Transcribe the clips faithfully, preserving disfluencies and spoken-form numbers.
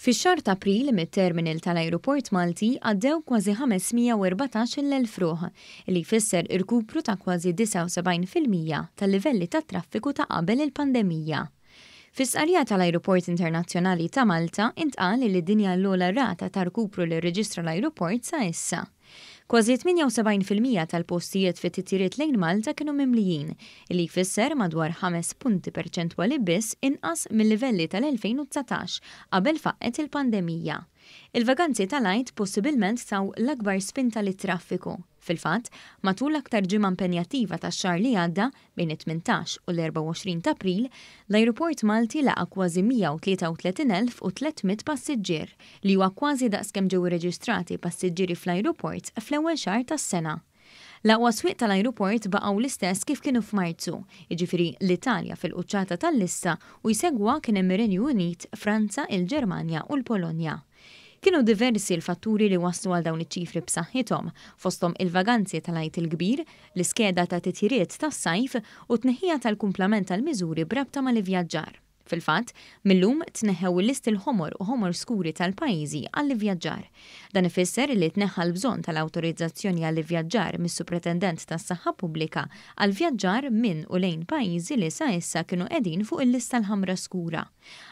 Fix-xahar ta' April mit-terminal tal-ajruport Malti għaddew kważi ħames mija u erbatax-il elf ruħ, li jfisser irkupru ta' kważi disgħa u sebgħin fil-mija tal-livelli tat-traffiku ta' qabel il-pandemija. Fis-stqarrija tal-Ajruport Internazzjonali ta' Malta intqal li din hija l-ogħla rata ta' rkupru li rreġistra l-ajruport sa issa. Kważi tmienja u sebgħin fil-mija tal-postijiet fit-titjiriet lejn Malta kienu mimlijin, li jfisser madwar ħames punti perċentwali biss inqas mill-livelli tal-elfejn u dsatax qabel faqqet il-pandemija. Il-vaganzi tal-Għid possibilment taw l-akbar spinta lit-traffiku. Fil-fatt, matul l-aktar ġimgħa impenjattiva tax-xahar li għadda, bejn it-tmintax u l-erbgħa u għoxrin ta' April, l-ajruport Malti laqa' kważi mija u tlieta u tletin elf u tliet mitt passiġġier, li huwa kważi daqskemm ġew irreġistrati passiġġieri fl-ajruport fl-ewwel xahar tas-sena. L-aqwa swieq tal-ajruport baqgħu l-istess kif kienu f'Marzu, jiġifieri l-Italja fil-quċċata tal-lista u jsegwa kien hemm ir-Renju Unit, Franza, il-Ġermanja u l-Polonja. Kienu diversi l-fatturi li waslu għal dawn iċ-ċifri b'saħħithom, fosthom il-vaganzi tal-Għid il-Kbir, l-iskeda ta' titjiriet tas-sajf u t-tneħħija tal-kumplament tal-miżuri b'rabta mal-ivvjaġġar. Fil-fatt, millum tneħħew il-listi l-ħomor u ħomor skuri tal-pajjiżi għall-ivvjaġġar. Dan ifisser li tneħħa l-bżonn tal-awtorizzazzjoni għall-ivvjaġġar mis-Supretendent tas-Saħħa Pubblika għall-vjaġġar minn u lejn pajjiżi li sa issa kienu qegħdin fuq il-lista l-ħamra skura.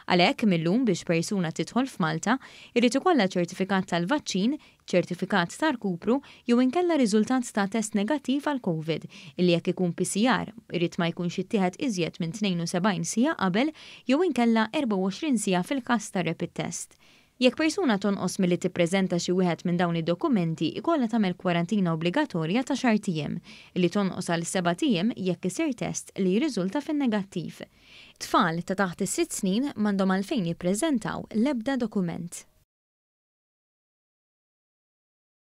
Għalhekk millum biex persuna tidħol f'Malta irid ikollha ċertifikat tal-vaċċin, ċertifikat ta' rkupru jew inkella riżultat ta' test negattiv għal COVID, illi jekk ikun P C R irid ma jkunx ittieħed iżjed minn tnejn u sebgħin siegħa qabel jew inkella erbgħa u għoxrin siegħa fil-każ ta' rapid test. Jekk persuna tonqos milli tippreżenta xi wieħed minn dawn id-dokumenti, ikollha tagħmel kwarantina obbligatorja ta' xahar tiem, li tonqos għal seba' tiem jekk isir test li jirriżulta fin-negattiv. Tfal ta' taħt is-sitt snin m'għandhom għalfejn jippreżentaw l-ebda dokument.